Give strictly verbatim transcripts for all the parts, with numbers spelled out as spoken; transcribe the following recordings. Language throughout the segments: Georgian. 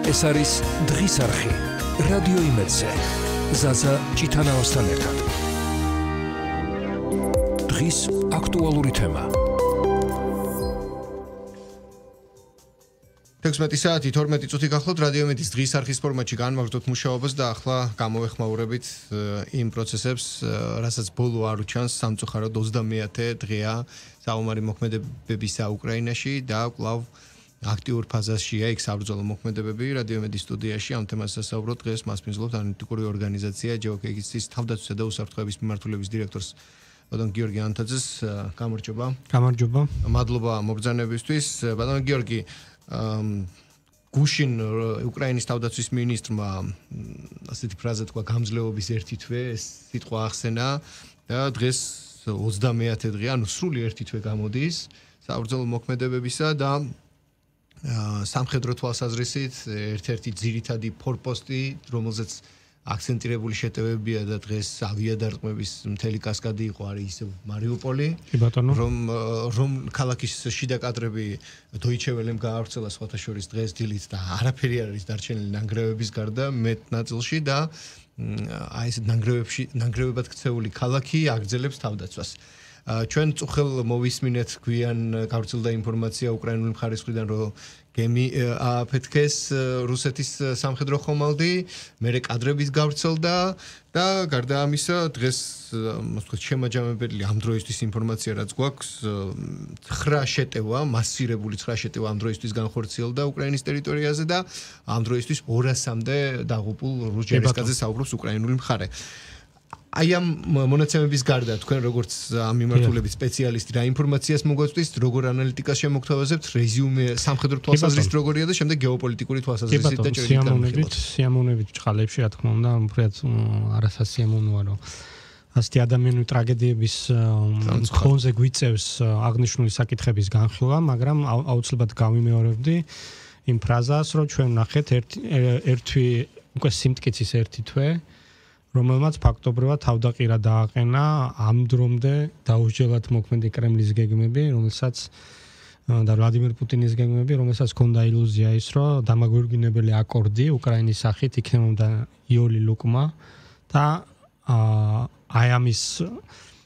ეს არის დღის არხი რადიო იმედზე ზაზა ჭიტანავასთან ერთად დღის აქტუალური თემა თექვსმეტი საათი თორმეტი წუთი გახლავთ რადიო იმედის დღის არხის ფორმატში განმაგრძოთ მუშაობას და ახლა გამოვეხმაურებით იმ პროცესებს, რასაც ბოლო არ უჩანს სამწუხაროდ ოცდამეათე დღეა საომარი მოქმედებებისა უკრაინაში და კვლავ აქტიურ ფაზაშია იქ საბრძოლო მოქმედებები რადიო იმედის სტუდიაში ამ თემას სასაუბროთ დღეს მას მისვლობთ ანალიტიკური ორგანიზაცია ჯეოკეგის თავდაცვისა და უსაფრთხოების მიმართულების დირექტორს ბატონ გიორგი ანთაძეს გამარჯობა. გამარჯობა. მადლობა მობრძანებისთვის. ბატონ გიორგი გუშინ უკრაინის თავდაცვის მინისტრმა ასეთი ფრაზა თქვა გამძლეობის ერთი თვე ეს სიტყვა ახსენა და დღეს ოცდამეათე დღე ანუ სრული ერთი თვე გამოდის საბრძოლო მოქმედებებისა და სამხედრო თვალსაზრისით ერთ-ერთი ძირითადი ფორპოსტი რომელზეც აქცენტირებული შეტევებია და დღეს ავიადარტყმების მთელი კასკადი იყო არის მარიუპოლი რომ რომ ქალაქის შიდა კადრები დოიჩე ველემ გაავრცელა სხვათა შორის დღეს დილით და არაფერი არ არის დარჩენილი ნანგრევების გარდა მეტ ნაწილში და აი ეს ნანგრევებში ნანგრევებად ქცეული ქალაქი აგრძელებს თავდაცვას ჩვენ წუხელ მოვისმინეთ გვიან გავრცელდა ინფორმაცია უკრაინული მხარის მხრიდან რომ გემი აფეთქეს რუსეთის სამხედრო ხომალდი, მერე კადრების გავრცელდა და გარდა ამისა დღეს ასე ვთქვათ შემაჯამებელი ამ დროისთვის ინფორმაცია რაც გვაქვს ცხრა შეტევა, მასირებული ცხრა შეტევა ამ დროისთვის განხორციელდა უკრაინის ტერიტორიაზე და ამ დროისთვის ორასამდე დაღუპულ რუს ჯარისკაცზე საუბრობს უკრაინული მხარე. აი ამ მონაცემების გარდა თქვენ როგორც ამ მიმართულების სპეციალისტი რა ინფორმაციას მოგვაწვდით, როგორ ანალიტიკას შემოგთავაზებთ, რეზიუმე სამხედრო თვალსაზრისით როგორია და შემდეგ გეოპოლიტიკური თვალსაზრისით და ჭრილით სიამოვნებით ჭყალებში რა თქმა უნდა, უფრო არასასიამოვნოა რომ ასეთი ადამიანური ტრაგედიების ფონზე გვიწევს აღნიშნული საკითხების განხილვა, მაგრამ აუცილებლად გავიმეორებდი იმ ფრაზას, რომ ჩვენ ნახეთ ერთი უკვე სიმტკიცის ერთი თვე რომელმაც ფაქტობრივად თავდაყირა დააყენა ამ დრომდე დაუსჯელად მოქმედი კრემლის გეგმები, რომელსაც და ვლადიმერ პუტინის გეგმები, რომელსაც ჰქონდა ილუზია ის, რომ დამაგვირგვინებელი აკორდი უკრაინის სახით იქნებოდა იოლი ლუკმა და აი ამის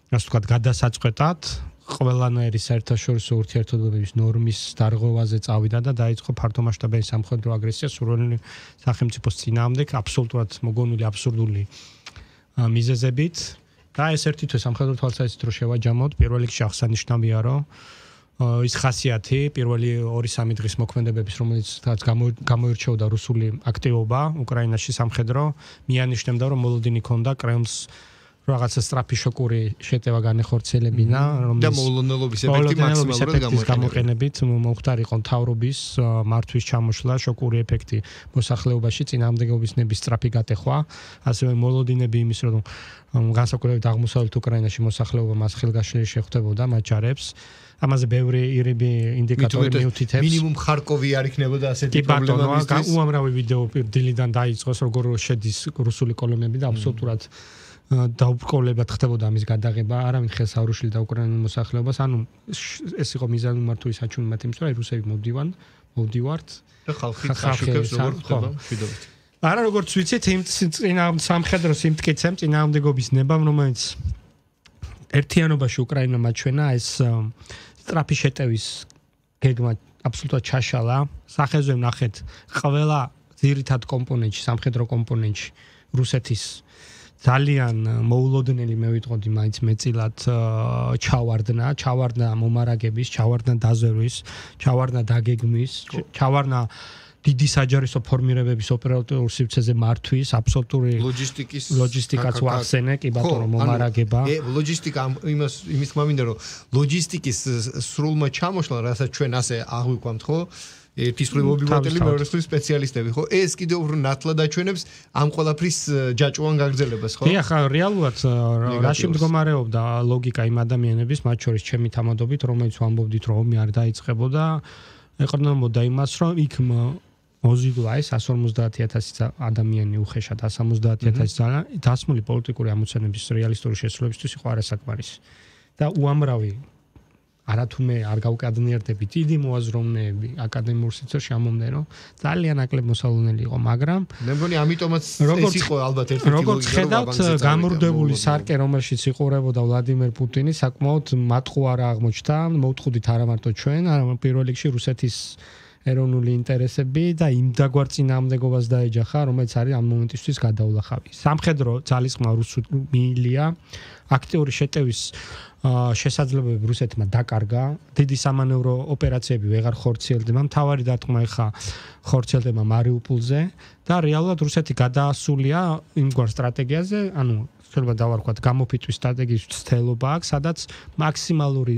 ასე ვთქვათ გადასაწყვეტად ყველანაირი საერთაშორისო ურთიერთობების ნორმის დარღვევაზე წავიდა და დაიწყო ფართომასშტაბიანი სამხედრო აგრესია სურვილი სახელმწიფოს წინააღმდეგ აბსოლუტურად მოგონილი აბსურდული მიზეზებით და ეს ერთი თვე სამხედრო თვალსაზრისით რო შევაჯამოთ პირველ რიგში აღსანიშნავია რომ ის ხასიათი პირველი ორი სამი დღის მოქმედებების რომელიც გამოირჩეოდა რუსული აქტივობა უკრაინაში სამხედრო მიანიშნებდა რომ მოლოდინი ქონდა კრემლს რაღაცა სწრაფი შოკური შეტევა განეხორციელებინა რომელიც და მოულოდნელობის ეფექტი მაქსიმალურად გამოყენებით მომხდარიყო მთავრობის მართვის ჩამოშლა შოკური ეფექტი მოსახლეობაში წინააღმდეგობის ნების სწრაფი გატეხვა ასევე მოლოდინები იმის რომ განსაკუთრებით აღმოსავლეთ უკრაინაში მოსახლეობა მას ხელგაშლილი შეხვდებოდა მათ ჯარებს ამაზე ბევრი ირიბი ინდიკატორი მიუთითებს მინიმუმ ხარკოვი არ იქნებოდა ასეთი პრობლემა მისთვის უამრავი ვიდეო დილიდან დაიწყოს როგორ შედის რუსული კოლონები და აბსოლუტურად დაუბრკოლებად ხდებოდა ამის გადაღება, არავინ ხელს არ უშლიდა უკრაინულ მოსახლეობას, ანუ ეს იყო მიზანური მართული საჩვენებლად იმის, რომ რუსები მოვდივან, მოვდივართ და ხალხი ხაშუქებს როგორ ხდება მშვიდობით. არა როგორც ვიცით, იმ სამხედრო სიმტკიცემ წინააღმდეგობის ნებამ, რომელიც ერთიანობაში უკრაინა მაჩვენა ეს სწრაფი შეტევის გეგმა აბსოლუტურად ჩაშალა. სახეზე ვნახეთ ყველა ძირითად კომპონენტში, სამხედრო კომპონენტში რუსეთის ძალიან მოულოდნელი მე ვიტყოდი მაინც მეწილად ჩავარდნა, ჩავარდნა მომარაგების, ჩავარდნა დაზერვის, ჩავარდნა დაგეგმვის, ჩავარდნა დიდი საჯარისო ფორმირებების ოპერატიულ სივრცეზე მართვის, აბსოლუტური ლოჯისტიკის ლოჯისტიკაც ვახსენე, კი ბატონო მომარაგება. ე ლოჯისტიკა იმას იმის თქმა მინდა რომ ლოჯისტიკის სრულმა ჩამოშლა, რასაც ჩვენ ასე აღვიქვამთ, ხო? ერთის მობილოტელი მეორესთვის სპეციალისტები ხო ეს კიდევ უფრო ნათლად აჩვენებს ამ ყველაფრის ჯაჭვიან გაგრძელებას ხო დიახ რეალურად რაში მდგომარეობდა ლოგიკა იმ ადამიანების მათ შორის ჩემი თამადობით რომელიც ვამბობდით რომ ომი არ დაიწყებოდა ეყრდნობოდა იმას რომ იქ მოზიდვა ეს εκατს ორმოცდაათი ათასი ადამიანი უხეშად εκατს ორმოცდაათი ათასი დასმული პოლიტიკური ამოცანების რეალისტური შესრულებისთვის იყო არასაკმარისი და უამრავი არათუმე არ გავკადნიერდებით დიდი მოაზროვნეები აკადემიურ სივრცეში ამომდნენ რომ ძალიან აკლებ მოსალონელი იყო მაგრამ მე მგონი ამიტომაც ეს იყო ალბათ ერთ-ერთი ლოგიკა როგორც ხედავთ გამორდებული სარკე რომელშიც იყურებოდა ვლადიმერ პუტინი საკმაოდ მატყუარა აღმოჩნდა მოვთხოვდით არა მარტო ჩვენ არამედ პირველ რიგში რუსეთის ეროვნული ინტერესები და იმ დაგვარ წინააღმდეგობას დაეჯახა რომელიც არის ამ მომენტისთვის გადაულახავი სამხედრო ძალისხმევა რუსული მილია აქტიური შეტევის შესაძლებლობები რუსეთმა დაკარგა დიდი სამანევრო ოპერაციები ვეღარ ხორციელდება მთავარი დარტყმა ეხა ხორციელდება მარიუპოლზე და რეალურად რუსეთი გადაასულია იმგვარ სტრატეგიაზე ანუ შეიძლება დავარქვათ გამოფიტვის სტრატეგიის ცდელობა აქვს სადაც მაქსიმალური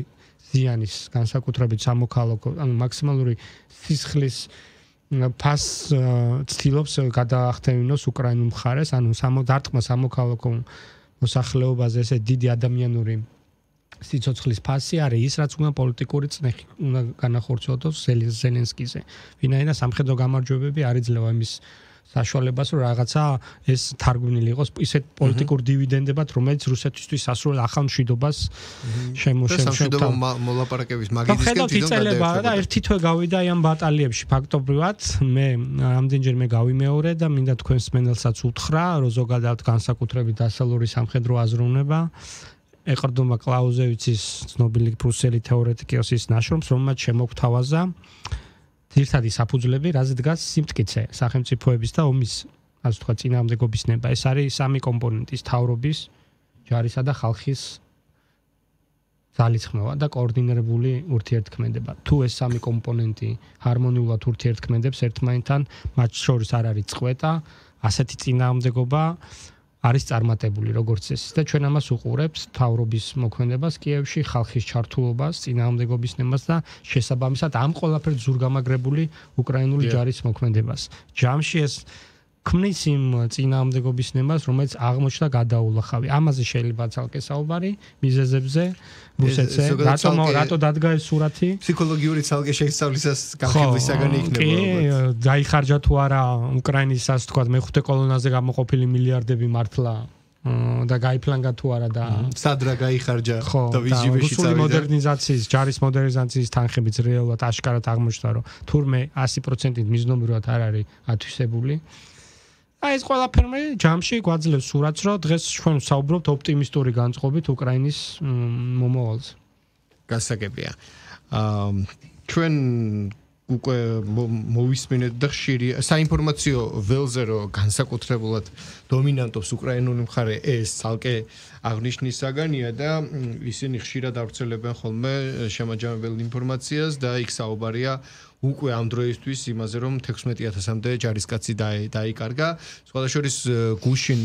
ზიანის განსაკუთრებით სამოქალაქო ანუ მაქსიმალური სისხლის ფასს ცდილობს გადაახტევინოს უკრაინულ მხარეს ანუ დარტყმა სამოქალაქო მოსახლეობაზე ესე დიდი ადამიანური სიცოცხლის ფასი არის ის რაც უნდა პოლიტიკური წნეხი უნდა განახორციელოს ზელენსკიზე ვინაიდან სამხედრო გამარჯვებები არ იძლევა იმის საშუალებას რომ რაღაცა ეს თარგმნილი იყოს ისეთ პოლიტიკურ დივიდენდებად რომელიც რუსეთისთვის სასურველ ახალ მშვიდობას შემოშემშევდა მოლაპარაკების მაგიდისკენ თვითონ და ერთი თვე გავიდა ამ ბატალიებში ფაქტობრივად მე ამდენჯერმე გავიმეორე და მინდა თქვენს მენელსაც უთხრა რომ ზოგადად განსაკუთრებით დასავლური სამხედრო აზროვნება ეყრდნობა კლაუზევიცის ცნობილი პრუსელი თეორეტიკოსის ნაშრომს რომელმაც შემოგთავაზა ძირითადი საფუძვლები რაც დგას სიმტკიცე სახელმწიფოების და ომის ასე ვთქვათ წინააღმდეგობის ნება ეს არის სამი კომპონენტის თავრობის ჯარისა და ხალხის ძალისხმევა და კოორდინირებული ურთიერთქმედება თუ ეს სამი კომპონენტი ჰარმონიულად ურთიერთქმედებს ერთმანეთთან მათ შორის არ არის წყვეტა ასეთი წინააღმდეგობა არის წარმატებული როგორც ეს და ჩვენ ამას უყურებთ თავრობის მოქმედებას კიევში ხალხის ჩართულობას წინააღმდეგობის ნებას და შესაბამისად ამ ყველაფერს ზურგამაგრებული უკრაინული ჯარის მოქმედებას ჯამში ეს ქმნის იმ წინააღმდეგობის ნებას რომელიც აღმოჩნდა გადაულახავი ამაზე შეიძლება ცალკე საუბარი მიზეზებზე რუსეთზე რატომ რატო დადგა ეს სურათი ფსიქოლოგიური ცალკე შესწავლისას განხილვისაგან იქნება ალბათ დაიხარჯა თუ არა უკრაინის ასე ვთქვათ მეხუთე კოლონაზე გამოყოფილი მილიარდები მართლა და გაიფლანგა თუ არა და სად რა გაიხარჯა და ვიჟივეში წავიდა მოდერნიზაციის ჯარის მოდერნიზაციის თანხებიც რეალურად აშკარად აღმოჩნდა რომ თურმე ასი პროცენტით მიზნობრივად არ არის ათვისებული აი ეს ყველაფერი ჯამში გვაძლევს სურათს, რომ დღეს ჩვენ საუბრობთ ოპტიმისტური განწყობით უკრაინის მომავალზე. გასაგებია. აა ჩვენ უკვე მოვისმინეთ და ხშირი საინფორმაციო ველზე რომ განსაკუთრებულად დომინანტობს უკრაინული მხარე ეს ცალკე აღნიშნის საგანია და ისინი ხშირად ავრცელებენ ხოლმე შემაჯამებელ ინფორმაციას და იქ საუბარია უკვე ამ დროისთვის იმაზე რომ თექვსმეტი ათასამდე ჯარისკაცი დაიკარგა სხვადასხვა გუშინ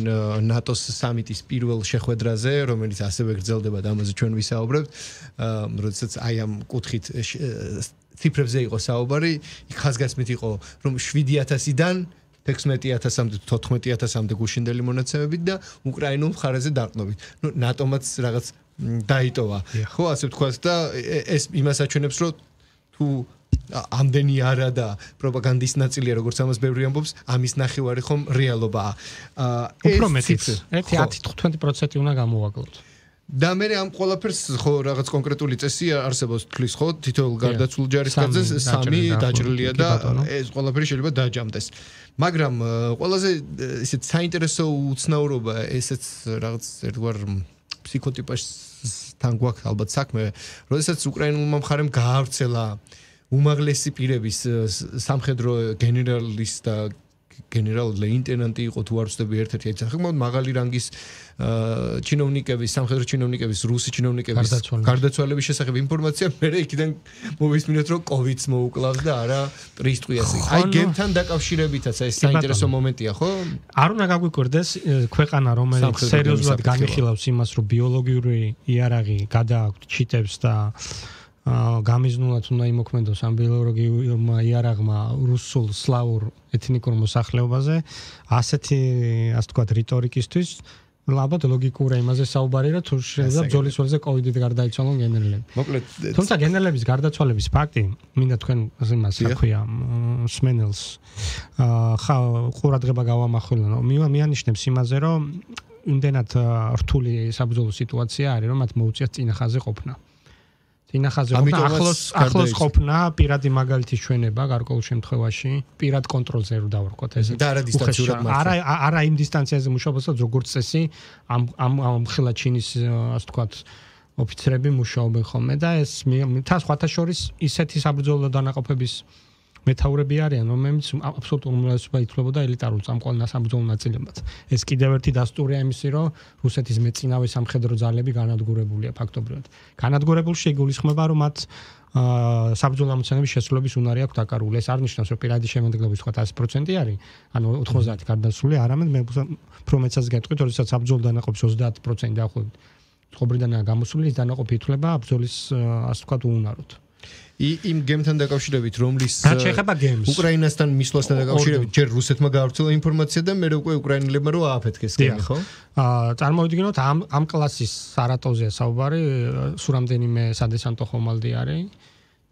ნატოს სამიტის პირველ შეხვედრაზე რომელიც ასევე გრძელდება და ამაზე ჩვენ ვისაუბრებთ როდესაც აი ამ კუთხით ციფრებზე იყო საუბარი იქ ხაზგასმით იყო რომ შვიდი ათასიდან თექვსმეტი ათასამდე თოთხმეტი ათასამდე გუშინდელი მონაცემებით და უკრაინულ მხარეზე დარტყმებით ნუ ნატომაც რაღაც დაიტოვა ხო ასე ვთქვათ და ეს იმას აჩვენებს რომ თუ ამდენი არა და პროპაგანდის ნაწილია როგორც ამას ბევრი ამბობს ამის ნახევარი ხომ რეალობაა უფრო მეტიც ერთი ათი თხუთმეტი პროცენტი უნდა გამოვაკლოთ და მე ამ ყველაფერს ხო რაღაც კონკრეტული წესი არსებობს თქლის ხო თითოეულ გარდაცვლილ ჯარისკაცზე სამი დაჭრილია და ეს ყველაფერი შეიძლება დაჯამდეს მაგრამ ყველაზე ისეთ საინტერესო უცნაურობა ესეც რაღაც ერთგვარ ფსიქოტიპასთან გვაქვს ალბათ საქმე როდესაც უკრაინულმა მხარემ გაავრცელა უმაღლესი პირების სამხედრო გენერალის და გენერალ-ლეიტენანტი იყო თუ არ ვცდები ერთ-ერთი აი საკმაოდ მაღალი რანგის ჩინოვნიკების სამხედრო ჩინოვნიკების რუსი ჩინოვნიკების გარდაცვალების შესახებ ინფორმაცია მე იქიდან მოვისმინეთ რომ კოვიდს მოუკლავს და არა ტრისტყვიას აი გემთან დაკავშირებითაც ეს საინტერესო მომენტია ხო არ უნდა გაგვიკვირდეს ქვეყანა რომელიც სერიოზულად განიხილავს იმას რომ ბიოლოგიური იარაღი გადააქვთ ჩიტებს და გამიზნულად უნდა იმოქმედოს ამ ბიოლოგიურმა იარაღმა რუსულ სლავურ ეთნიკურ მოსახლეობაზე ასეთი ასე ვთქვათ რიტორიკისთვის ალბათ ლოგიკურია იმაზე საუბარი რა თუ შეიძლება ბრძოლის ველზე კოვიდით გარდაიცვალონ გენერლები მოკლედ თუმცა გენერლების გარდაცვალების ფაქტი მინდა თქვენ იმას აქვია სმენელს ხა ყურადღება გავამახვილო მიანიშნებს იმაზე რომ იმდენად რთული საბრძოლო სიტუაცია არის რომ მათ მოუწიათ წინახაზე ყოფნა დინახაზე უნდა ახლოს ახლოს ყოფნა პირადი მაგალითის ჩვენება გარკვეულ შემთხვევაში პირად კონტროლზე რო დავარქვათ ეს და არა დისტანციურად მართლა არა არა იმ დისტანციაზე მუშაობასაც როგორც წესი ამ ამ ხელა ჩინის ასე ვთქვათ ოფიცრები მუშაობენ ხოლმე და ეს თა სხვათა შორის ისეთი საბრძოლო დანაყოფების მეთაურები არიან, რომლებიც აბსოლუტურ უმრავლესობა ითვლებოდა ელიტარულ წამყვან საბრძოლო ნაწილებად. ეს კიდევ ერთი დასტურია იმისი, რომ რუსეთის მეწინავე სამხედრო ძალები განადგურებულია ფაქტობრივად. განადგურებულში იგულისხმება, რომ მათ საბრძოლო ამოცანების შესრულების უნარი აქვთ დაკარგული. ეს არ ნიშნავს, რომ პირადი შემოქმედება სხვა ასი პროცენტი არის, ანუ ოთხმოცდაათი გარდაცვლილი, არამედ მე უფრო მეცაც გეტყვით, როდესაც საბრძოლო დანაყოფის ოცდაათი პროცენტი დაახლოებით ცხოვრიდანაა გამოსული, ის დანაყოფი ითვლება ბრძოლის ასე ვთქვათ უუნაროდ. იმ გემთან დაკავშირებით, რომლის შეეხება გემს. უკრაინასთან მისვლასთან დაკავშირებით, ჯერ რუსეთმა გაავრცელა ინფორმაცია და მე უკვე უკრაინელებმა რო ააფეთქეს გემი, ხო? აა წარმოვიდგინოთ ამ ამ კლასის სარატოვზეა საუბარი, სულ რამდენიმე სადესანტო ხომალდი არის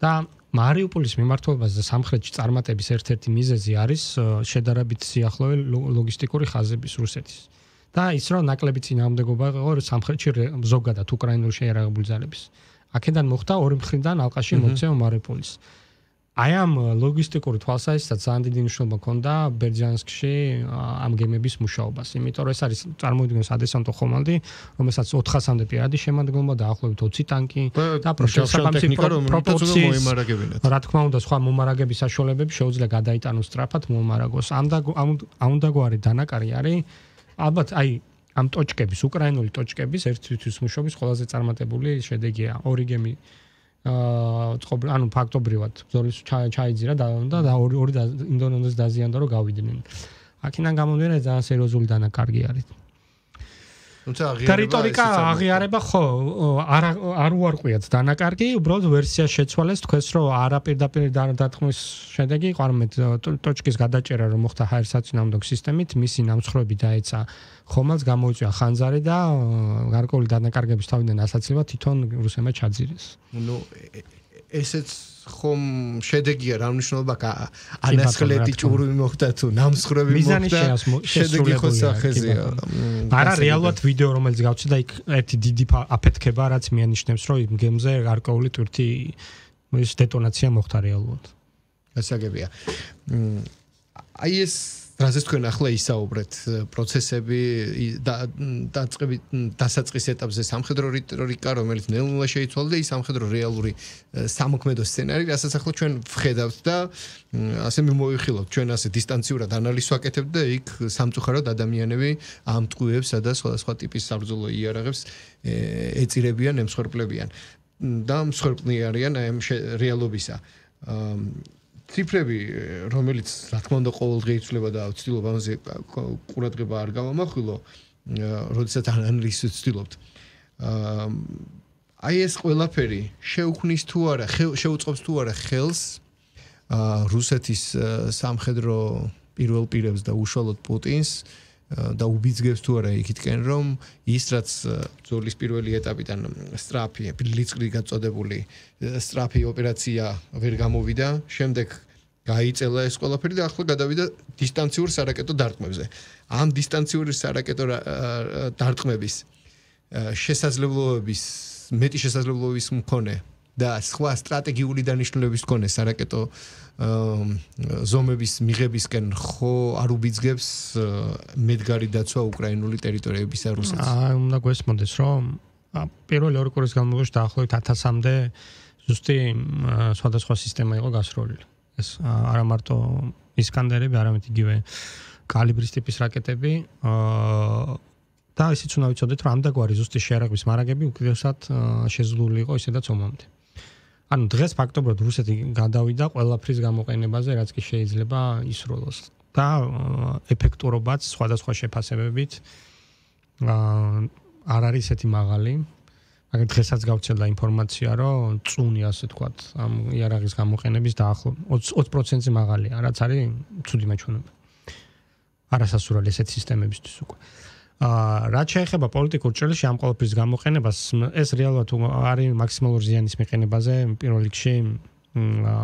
და მარიუპოლის მიმართულებას და სამხრეთში წარმატების ერთ-ერთი მიზეზი არის შედარებით სიახლოვე ლოგისტიკური ხაზების რუსეთის. და ის რომ ნაკლები წინააღმდეგობა იყო სამხრეთში ზოგადად უკრაინულ შეიარაღებული ძალების. აქედან მოხდა ორი მხრიდან ალყაში მოქცევა მარიუპოლის. აი ამ ლოგისტიკური თვალსაზრისით ძალიან დიდი მნიშვნელობა ჰქონდა ბერძანსკში ამ გემების მუშაობას. იმიტომ რომ ეს არის წარმოვიდგინოთ სადესანტო ხომალდი, რომელსაც ოთხასამდე პირადი შემადგენლობა დაახლოებით ოცი ტანკი და პროპორციის რა თქმა უნდა სხვა მომარაგების საშუალებები შეუძლია გადაიტანოს სწრაფად მომარაგოს. ამ და ამ დაგვარი დანაკარი არის ალბათ აი ამ ტოჩკების, უკრაინული ტოჩკების ერთ-ერთი მუშაობის ყველაზე წარმატებული შედეგია. ორი გემი აა წყობ ანუ ფაქტობრივად ბრძოლის ჩაიძირა და და ორი ორი ინდონეზიას დაზიანდა რომ გავიდნენ. აქედან გამომდინარე ძალიან სერიოზული დანაკარგი არის. თუმცა აღიარება ტერიტორიკა აღიარება ხო არ არ უარყვიათ დანაკარგი, უბრალოდ ვერსია შეცვალეს თქვენს რომ არაპირდაპირ დათქმის შედეგი იყო არამედ ტოჩკის გადაჭერა რომ მოხდა ჰაერსაწინააღმდეგო სისტემით, მისი ნამსხვრევები დაეცა ხომალდს გამოიწვია ხანძარი და გარკვეული დანაკარგების თავიდან ასაცილება თვითონ რუსებმა ჩაძირეს. ნუ ესეც ხომ შედეგია რა მნიშვნელობა ანასხლეთი ჭურვი მოხდა თუ ნამსხვრევი მოხდა შედეგი ხო სახეზეა. არა რეალურად ვიდეო რომელიც გავცი და იქ ერთი დიდი აფეთქება რაც მიანიშნებს რომ იმ გემზე გარკვეული ტვირთი ის დეტონაცია მოხდა რეალურად. გასაგებია. აი ეს რაზეც თქვენ ახლა ისაუბრეთ პროცესები დაწყებით დასაწყის ეტაპზე სამხედრო რიტორიკა რომელიც ნელ-ნელა შეიცვალა და ის სამხედრო რეალური სამოქმედო სცენარი რასაც ახლა ჩვენ ვხედავთ და ასე მიმოვიხილავთ ჩვენ ასე დისტანციურად ანალიზს ვაკეთებთ და იქ სამწუხაროდ ადამიანები ამ ტყუებს და სხვადასხვა ტიპის საბრძოლო იარაღებს ეწირებიან, ემსხვერპლებიან და მსხვერპლნი არიან ამ რეალობისა. ციფრები, რომელიც რა თქმა უნდა ყოველდღე იცვლება და ვცდილობ ამაზე ყურადღება არ გავამახვილო, როდესაც ანალიზს ვცდილობთ. აი ეს ყველაფერი შეუქმნის თუ არა, შეუწყობს თუ არა ხელს რუსეთის სამხედრო პირველ პირებს და უშუალოდ პუტინს და უბიძგებს თუ არა იქითკენ რომ ის რაც ბრძოლის პირველი ეტაპიდან სტრაფი, ბლიცკრიგ გაწოდებული სტრაფი ოპერაცია ვერ გამოვიდა, შემდეგ გაიწელა ეს ყველაფერი და ახლა გადავიდა დისტანციურ სარაკეტო დარტყმებზე. ამ დისტანციური სარაკეტო დარტყმების შესაძლებლობების მეტი შესაძლებლობის მქონე და სხვა სტრატეგიული დანიშნულების მქონე სარაკეტო ზომების მიღებისკენ ხო არ უბიძგებს მედგარი დაცვა უკრაინული ტერიტორიებისა რუსეთს. აი უნდა გვესმოდეს რომ პირველი ორი კვირის განმავლობაში დაახლოებით ათასამდე ზუსტი სხვადასხვა სისტემა იყო გასროლილი. ეს არა მარტო ისკანდერები, არამედ იგივე კალიბრის ტიპის რაკეტები და ისიც უნდა ვიცოდეთ რომ ამ დაგვარი ზუსტი შეიარაღების მარაგები უკიდურესად შეზღუდული იყო ისედაც ომამდე. ანუ დღეს ფაქტობრივად რუსეთი გადავიდა ყველაფრის გამოყენებაზე, რაც კი შეიძლება ისროლოს და ეფექტურობაც სხვადასხვა შეფასებებით არ არის ესეთი მაღალი. მაგრამ დღესაც გავცელა ინფორმაცია, რომ წუნი ასე თქვათ ამ იარაღის გამოყენების დაახლოებით ოცი პროცენტზე მაღალია, რაც არის ცუდი მაჩვენებელი. არასასურველი ესეთ სისტემებისთვის უკვე. აა რაც შეეხება პოლიტიკურ ჭრილში ამ ყოველფრის გამოყენებას, ეს რეალურად არის მაქსიმალური ზიანის მიყენებაზე, პირველ რიგში აა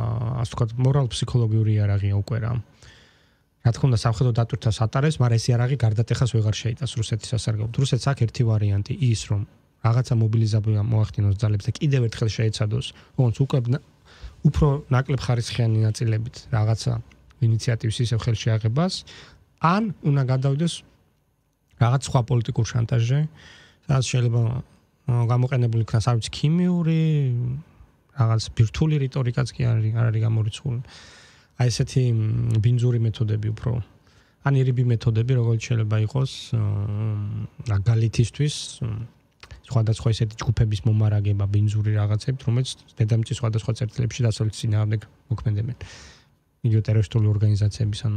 ასე ვთქვათ, მორალ-ფსიქოლოგიური იარაღია უკვე რა. რა თქმა უნდა, სამხედრო დატვირთვას ატარებს, მაგრამ ეს იარაღი გარდატეხას ვეღარ შეიტანს რუსეთის სასარგებლოდ. რუსეთს აქვს ერთი ვარიანტი, ის რომ რაღაცა მობილიზება მოახდინოს ძალებს და კიდევ ერთხელ შეეცადოს, ოღონდ უკვე უფრო ნაკლებ ხარისხიანი ნაწილებით რაღაცა ინიციატივის ისევ ხელში აღებას, ან უნდა გადავიდეს რაღაც სხვა პოლიტიკურ შანტაჟზე, სადაც შეიძლება გამოყენებული იქნას არ ვიცი ქიმიური, რაღაც ბირთვული რიტორიკაც კი არის, არ არის გამორიცხული. აი ესეთი ბინძური მეთოდები უფრო ან ირიბი მეთოდები, როგორც შეიძლება იყოს მაგალითისთვის სხვადასხვა ესეთი ჯგუფების მომარაგება ბინძური რაღაცებით, რომელიც დედამიწის სხვადასხვა წერტილებში დასავლეთის წინააღმდეგ მოქმედებენ. იგივე ტერორისტული ორგანიზაციების ან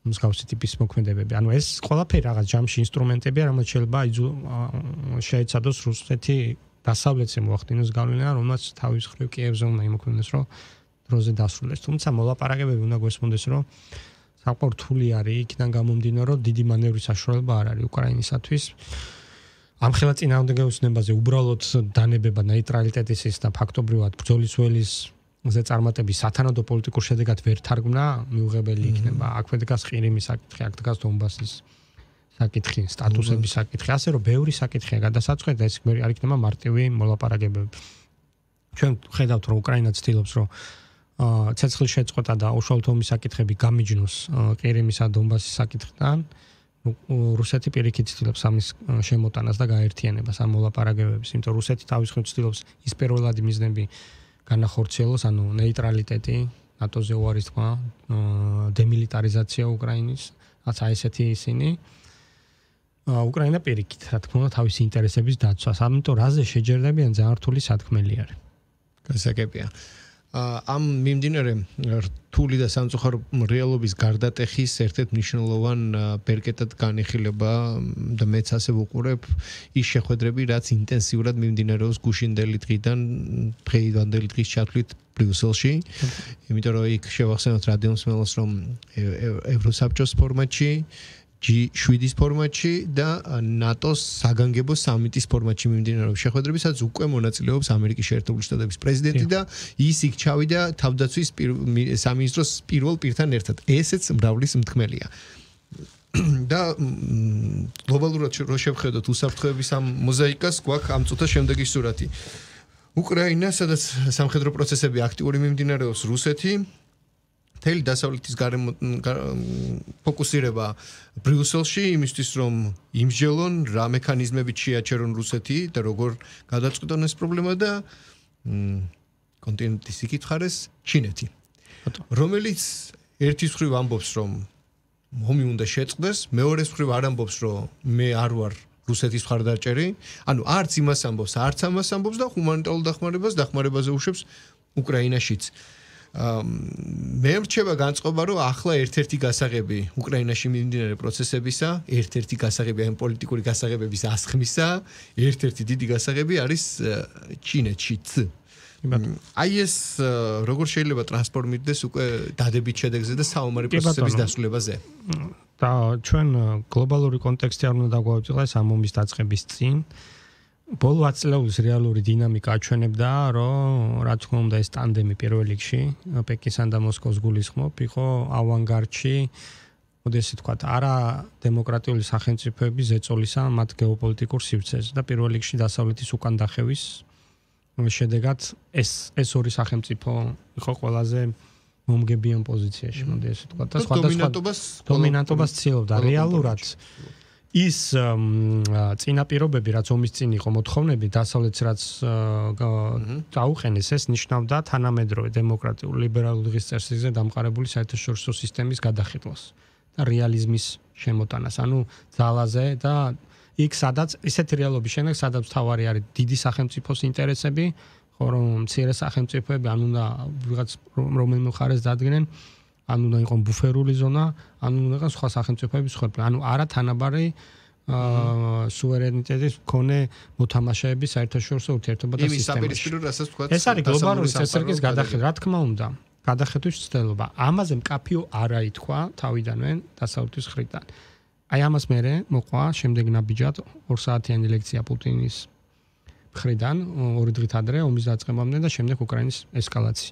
მსგავსი ტიპის მოქმედებები. ანუ ეს ყველაფერი რაღაც ჯამში ინსტრუმენტებია, რომელიც შეიძლება შეეცადოს რუსეთი დასავლეთზე მოახდინოს გავლენა, რომელსაც თავის მხრივ კიევზე უნდა იმოქმედოს, რომ დროზე დასრულდეს. თუმცა მოლაპარაკებები უნდა გვესმოდეს, რომ საკმაოდ რთული არის იქიდან გამომდინარე, რომ დიდი მანევრის საშუალება არ არის უკრაინისათვის. ამ ხელა წინააღმდეგობაზე უბრალოდ დანებება ნეიტრალიტეტის და ფაქტობრივად ბრძოლის ველის ზე წარმატების სათანადო პოლიტიკურ შედეგად ვერ თარგმნა, მიუღებელი იქნება. აქვე დგას ყირიმის საკითხი, აქ დგას დონბასის საკითხი, სტატუსების საკითხი, ასე რომ ბევრი საკითხია გადასაწყვეტ და ეს არ იქნება მარტივი მოლაპარაკებები. ჩვენ ხედავთ, რომ უკრაინა ცდილობს, რომ ცეცხლის შეწყვეტა და უშუალოდ ომის საკითხები გამიჯნოს ყირიმის და დონბასის საკითხთან. რუსეთი პირიქით ცდილობს ამის შემოტანას და გაერთიანებას ამ მოლაპარაკებების, იმიტომ რომ რუსეთი თავის მხრივ ცდილობს ის პირველადი მიზნები განახორციელოს, ანუ ნეიტრალიტეტი, ნატოზე უარის თქმა, დემილიტარიზაცია უკრაინის, რაც აი ესეთი ისინი. უკრაინა პირიქით, რა თქმა უნდა, თავისი ინტერესების დაცვას, ამიტომ რაზე შეჯერდებიან ძალიან რთული სათქმელი არის. გასაგებია. ამ მიმდინარე რთული და სამწუხარო რეალობის გარდატეხის ერთ-ერთ მნიშვნელოვან ბერკეტად განიხილება და მეც ასე ვუყურებ ის შეხვედრები, რაც ინტენსიურად მიმდინარეობს გუშინდელი დღიდან დღევანდელი დღის ჩათვლით ბრიუსელში, იმიტომ რომ იქ შევახსენოთ რადიომსმენელს, რომ ევროსაბჭოს ფორმატში ჯი შვიდის ფორმატში და ნატოს საგანგებო სამიტის ფორმატში მიმდინარეობს შეხვედრები, სადაც უკვე მონაწილეობს ამერიკის შეერთებული შტატების პრეზიდენტი და ის იქ ჩავიდა თავდაცვის სამინისტროს პირველ პირთან ერთად. ესეც მრავლის მთქმელია. და გლობალურად რო შევხედოთ უსაფრთხოების ამ მოზაიკას, გვაქვს ამ წუთას შემდეგი სურათი. უკრაინა, სადაც სამხედრო პროცესები აქტიური მიმდინარეობს, რუსეთი მთელი დასავლეთის გარემო ფოკუსირება ბრიუსელში იმისთვის, რომ იმსჯელონ, რა მექანიზმებით შეაჩერონ რუსეთი და როგორ გადაწყვეტონ ეს პრობლემა და კონტინენტის იქით ხარეს ჩინეთი. რომელიც ერთის მხრივ ამბობს, რომ ომი უნდა შეწყდეს, მეორეს მხრივ არ ამბობს, რომ მე არ ვარ რუსეთის მხარდაჭერი, ანუ არც იმას ამბობს, არც ამას ამბობს და ჰუმანიტარულ დახმარებას დახმარებაზე უშვებს უკრაინაშიც. მე მრჩება განწყობა, რომ ახლა ერთ-ერთი გასაღები უკრაინაში მიმდინარე პროცესებისა, ერთ-ერთი გასაღები ამ პოლიტიკური გასაღებების ასხმისა, ერთ-ერთი დიდი გასაღები არის ჩინეთშიც. აი ეს როგორ შეიძლება ტრანსფორმირდეს უკვე დადებით შედეგზე და საომარი პროცესების დასრულებაზე? და ჩვენ გლობალური კონტექსტი არ უნდა დაგვაუწყდეს ამ ომის დაწყების წინ. ბოლო ათი წლების რეალური დინამიკა აჩვენებდა, რომ რა თქმა უნდა ეს ტანდემი პირველ რიგში პეკინსა და მოსკოვს გულისხმობ, იყო ავანგარდში, მოდესი თქვათ, არა დემოკრატიული სახელმწიფოების ზეწოლისა მათ გეოპოლიტიკურ სივრცეზე და პირველ რიგში დასავლეთის უკან დახევის შედეგად ეს ეს ორი სახელმწიფო იყო ყველაზე მომგებიან პოზიციაში, მოდესი თქვათ, და სხვადასხვა დომინანტობას ცდილობდა რეალურად. ის წინაპირობები, რაც ომის წინ იყო მოთხოვნები, დასავლეთს რაც დაუყენეს, ეს ნიშნავდა თანამედროვე დემოკრატიული ლიბერალური დღის წესრიგზე დამყარებული საერთაშორისო სისტემის გადახილვას და რეალიზმის შემოტანას, ანუ ძალაზე და იქ სადაც ისეთი რეალობის შემდეგ, სადაც თავარი არის დიდი სახელმწიფოს ინტერესები, ხო რომ მცირე სახელმწიფოები ან უნდა ვიღაც რომელიმე მხარეს დადგნენ, ან უნდა იყოს ბუფერული ზონა, ან უნდა იყოს სხვა სახელმწიფოების ხორბლი. ანუ არა თანაბარი სუვერენიტეტის მქონე მოთამაშეების საერთაშორისო ურთიერთობა და სისტემაში. ეს არის გლობალური წესრიგის გადახილვა, რა თქმა უნდა, გადახედვის ცდელობა. ამაზე მკაფიო არ აითქვა თავიდანვე დასავლეთის მხრიდან. აი ამას მერე მოყვა შემდეგ ნაბიჯად ორ საათიანი ლექცია პუტინის მხრიდან ორი დღით ადრე ომის დაწყებამდე და შემდეგ უკრაინის ესკალაცია.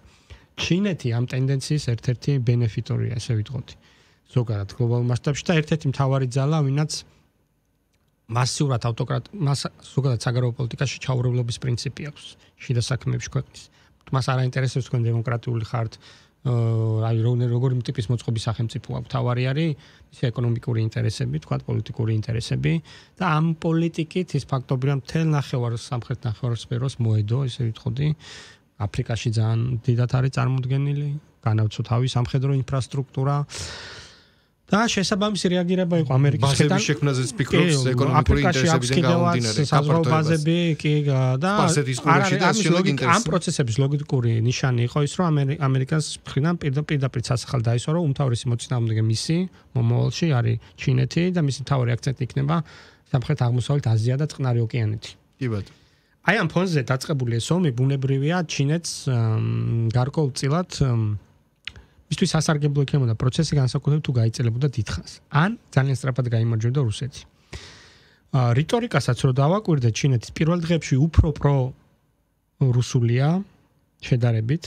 ჩინეთი ამ ტენდენციის ერთ-ერთი ბენეფიტორია, ესე ვიტყოდი. ზოგადად გლობალურ მასშტაბში და ერთ-ერთი მთავარი ძალა, ვინაც მასიურად ავტოკრატ მას ზოგადად საგარეო პოლიტიკაში ჩაურევლობის პრინციპი აქვს შიდა საქმეებში ქვეყნის. მას არ აინტერესებს თქვენ დემოკრატიული ხართ, აი როგორი ტიპის მოწყობის სახელმწიფო აქვს, თავარი არის ისე ეკონომიკური ინტერესები, თქვა პოლიტიკური ინტერესები და ამ პოლიტიკით ის ფაქტობრივად რომ მთელ ნახევარ სამხრეთ ნახევარსფეროს მოედო, ესე ვიტყოდი, აფრიკაში ძალიან დიდად არის წარმოდგენილი, განავრცო თავის სამხედრო ინფრასტრუქტურა და შესაბამისი რეაგირება იყო ამერიკის ხედან. ბაზების შექმნაზეც ფიქრობს ეკონომიკური ინტერესებიდან გამომდინარე. საზღვაო ბაზები კი და ამ პროცესების ლოგიკური ნიშანი იყო ის, რომ ამერიკას მხრიდან პირდაპირ სასახალ დაისვა, რომ უმთავრესი მოწინააღმდეგე მისი მომავალში არის ჩინეთი და მისი მთავარი აქცენტი იქნება სამხრეთ აღმოსავლეთ აზია და წყნარი ოკეანეთი. კი ბატონო. აი ამ ფონზე დაწყებული ეს ომი ბუნებრივია ჩინეთს გარკვეულწილად მისთვის სასარგებლო იქნებოდა პროცესი განსაკუთრებით თუ გაიწელებოდა დიდხანს. ან ძალიან სწრაფად გაიმარჯვებდა რუსეთი. რიტორიკასაც რო დავაკვირდე ჩინეთის პირველ დღეებში უფრო პრო რუსულია შედარებით,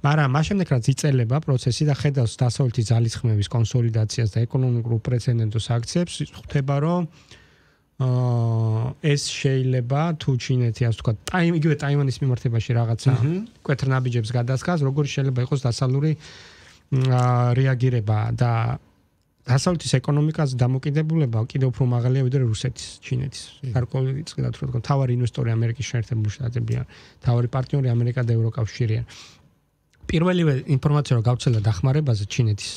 მაგრამ მას შემდეგ რაც იწელება პროცესი და ხედავს დასავლეთის ძალისხმევის კონსოლიდაციას და ეკონომიკურ უპრეცედენტო აქციებს, ხვდება რომ ეს შეიძლება თუ ჩინეთი ასე ვთქვათ, ტაიმ იგივე ტაივანის მიმართებაში რაღაცა კვეთრნაბიჯებს გადასხას, როგორი შეიძლება იყოს დასავლური რეაგირება და დასავლეთის ეკონომიკაზე დამოკიდებულება კიდევ უფრო მაღალია ვიდრე რუსეთის, ჩინეთის. გარკვეული წყილად რო თქვა, თავარი ინვესტორი ამერიკის შეერთებული შტატებია, თავარი პარტნიორი ამერიკა და ევროკავშირია. პირველივე ინფორმაცია რო გავცელა დახმარებაზე ჩინეთის,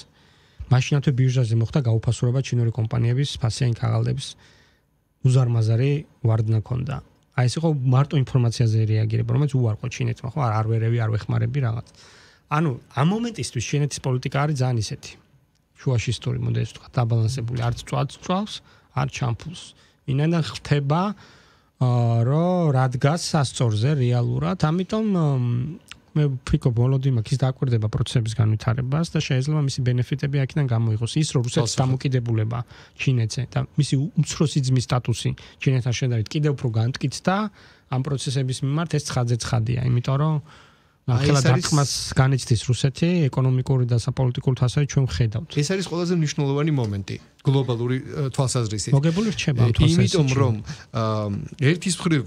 მაშინათვე ბირჟაზე მოხდა გაუფასურება ჩინური კომპანიების ფასიანი ქაღალდების უზარმაზარი ვარდნა ქონდა. აი ეს იყო მარტო ინფორმაციაზე რეაგირება, რომელიც უარყო ჩინეთმა, ხო, არ ვერევი, არ ვეხმარები რაღაც. ანუ ამ მომენტისთვის ჩინეთის პოლიტიკა არის ძალიან ისეთი. შუაში ისტორი მოდელი თქვა, დაბალანსებული, არც წვაც წვავს, არ ჩამფულს. ინანან ხდება, რომ რადგას სასწორზე რეალურად, ამიტომ მე ვფიქრობ ვოლოდიმირ კის დააკვირდება პროცესების განვითარებას და შეიძლება მისი ბენეფიტები აქედან გამოიღოს. ის რომ რუსეთის დამოკიდებულება ჩინეთზე და მისი უმცროსი ძმის სტატუსი ჩინეთთან შედარებით კიდევ უფრო განმტკიცდა ამ პროცესების მიმართ ეს ცხადზე ცხადია, იმიტომ რომ ახლა დარტყმას განიცდის რუსეთი ეკონომიკური და საპოლიტიკურ თასად ჩვენ ვხედავთ. ეს არის ყველაზე მნიშვნელოვანი მომენტი გლობალური თვალსაზრისით. მოგებული რჩება ამ თვალსაზრისით. იმიტომ რომ ერთის მხრივ